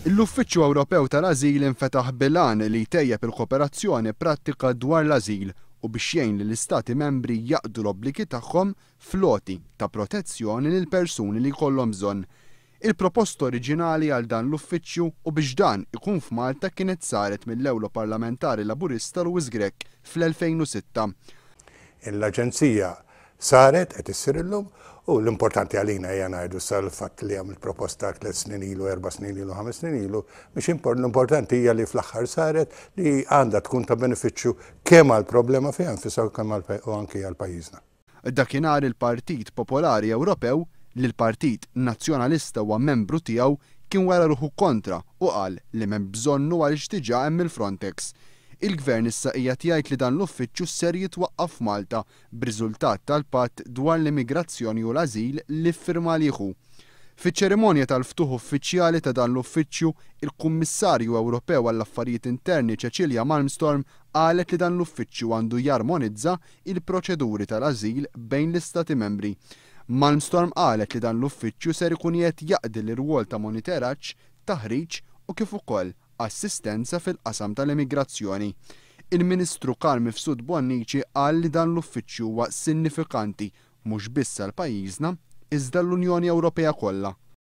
L-Uffiċċju Ewropew tal-Ażil infetaħ bil-għan li jtejjeb il-kooperazzjoni prattika dwar l-ażil u biex jgħin lill-Istati Membri jaqdu l-obbligi tagħhom fl-għoti ta' protezzjoni lil persuni li jkollhom bżonn. Il-proposta oriġinali għal dan l-uffiċċju u biex dan ikun f'Malta kienet saret mill-Ewroparlamentari Laburista Louis Grech fl-2006. L-Aġenzija saret, qed issir illum, u l-importanti għalina hija ngħidu sa l-fatt li għamilt proposta 3 snin ilu, 4 snin ilu, 5 snin ilu, biex l-importanti hija li fl-aħħar saret, li għandha tkun ta' benefiċċju kemm għall-problema fiha nfisha u kemm u anki għal pajjiżna. Dakinhar il-Partit Popolari Ewropew, li l-Partit Nazzjonalista huwa membru tiegħu, kien wera ruħu kontra u qal li m'hemm bżonnu għaliex diġà hemm il-Frontex. Il-Gvern issa qiegħed jgħid li dan l-uffiċċju ser jitwaqqaf f'Malta b'riżultat tal-patt dwar l-immigrazzjoni u l-ażil li ffirma liħu. Fiċ-ċerimonja tal-ftuħ uffiċjali ta' dan l-uffiċċju, il-Kummissarju Ewropew għall-Affarijiet Interni Cecilia Malmström qalet li dan l-uffiċċju għandu jarmonizza il-proċeduri tal-ażil bejn l-Istati membri. Malmström qalet li dan l-uffiċċju ser ikun qed jaqdi l-irwol ta' monitoraġġ, taħriġ u kif ukoll assistenza fil-qasam tal-immigrazzjoni. Il-Ministru Carm Mifsud Bonnici qal li dan l-uffiċċju huwa sinifikanti mhux biss għal pajjiżna iżda l-Unjoni Ewropea kollha.